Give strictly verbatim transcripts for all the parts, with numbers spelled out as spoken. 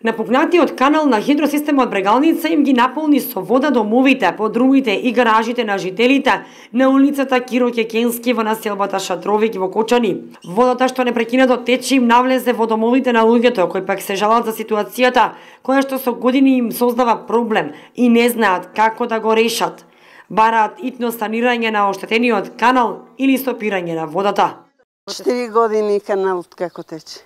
Напукнатиот канал на хидросистемот Брегалница им ги наполни со вода домовите, подрумите и гаражите на жителите на улицата Киро Кекенски во населбата Шатровик во Кочани. Водата што непрекинато тече им навлезе во домовите на луѓето кои пак се жалат за ситуацијата која што со години им создава проблем и не знаат како да го решат. Бараат итно санирање на оштетениот канал или стопирање на водата. Четири години каналот како тече.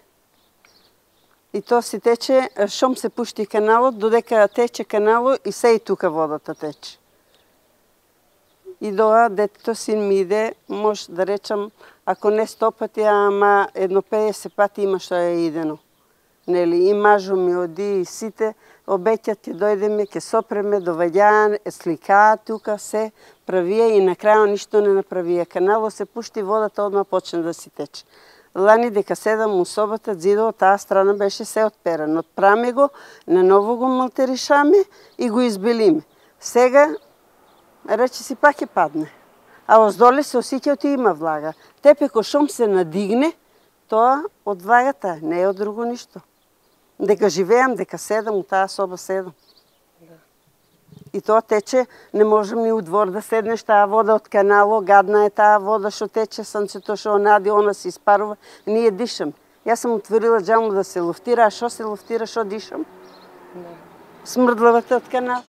И то си тече, шом се пушти каналот, додека тече каналот и се и тука водата тече. И доа детето син ми иде, може да речам, ако не сто пати, ама едно педесет пати има што е идено. Нели, и мажо ми оди, и сите обеќат ќе дојдеме, ќе сопреме, доваѓаат, сликаат тука, се правија и на крајот ништо не направија. Каналот се пушти, водата одма почна да си тече. Лани дека седам у собата, зидот, таа страна беше се отперан. Отпраме го, наново го малтеришаме и го избелиме. Сега, рече си пак ќе падне. А оздоле се осеќа и има влага. Тепеко шум се надигне, тоа од влагата, не е од друго ништо. Дека живеам, дека седам, у таа соба седам. И тоа тече, не можем ни у двор да седнеш, таа вода од канало, гадна е таа вода што тече, сонцето што онади, она се испарува, ние дишам. Јас сум отворила џаму да се луфтира, а што се луфтира, што дишам? Смрдлавата од канал.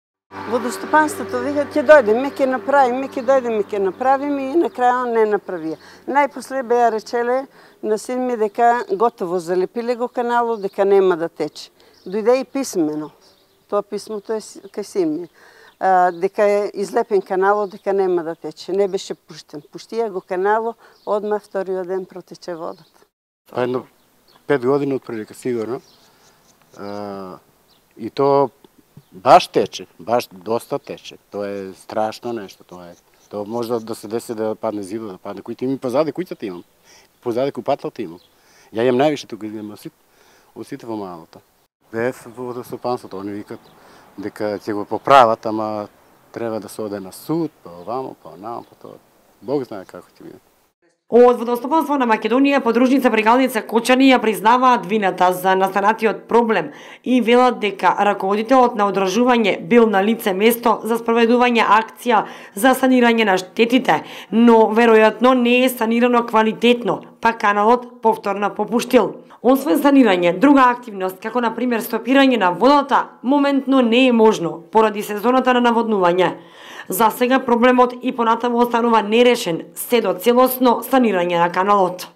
Водостопанството вика, ќе дојдеме, ќе направиме, ќе дојдеме, ќе направиме и на крајот не направија. Најпосле беа речеле на син ми дека готово залепиле го каналот, дека нема да тече. Дојде и писмено. Тоа писмото е кај син ми. А, дека е излепен каналот, дека нема да тече. Не беше пуштен. Пуштија го каналот, одма вториот ден протече водата. Па едно пет години отприлика сигурно. А, и то баш тече, баш доста тече. Тоа е страшно нешто, тоа е. Тоа може да се деси да падне зидот, да падне кујте имам позади кујцата имам. Позади купаталата имам. Ја имам највише тука, имам од сите во малото. Бев во водостопанството, они викат дека ќе го поправат, ама треба да се оде на суд, па овамо, па онамо, па тоа. Бог знае како ќе биде. Од Водостопанство на Македонија, подружница Брегалница Кочани ја признаваат вината за настанатиот проблем и велат дека раководителот на одржување бил на лице место за спроведување акција за санирање на штетите, но веројатно не е санирано квалитетно, па каналот повторно попуштил. Освен санирање, друга активност, како на пример стопирање на водата, моментно не е можно, поради сезоната на наводнување. За сега проблемот и понатаму останува нерешен, се до целосно санирање на каналот.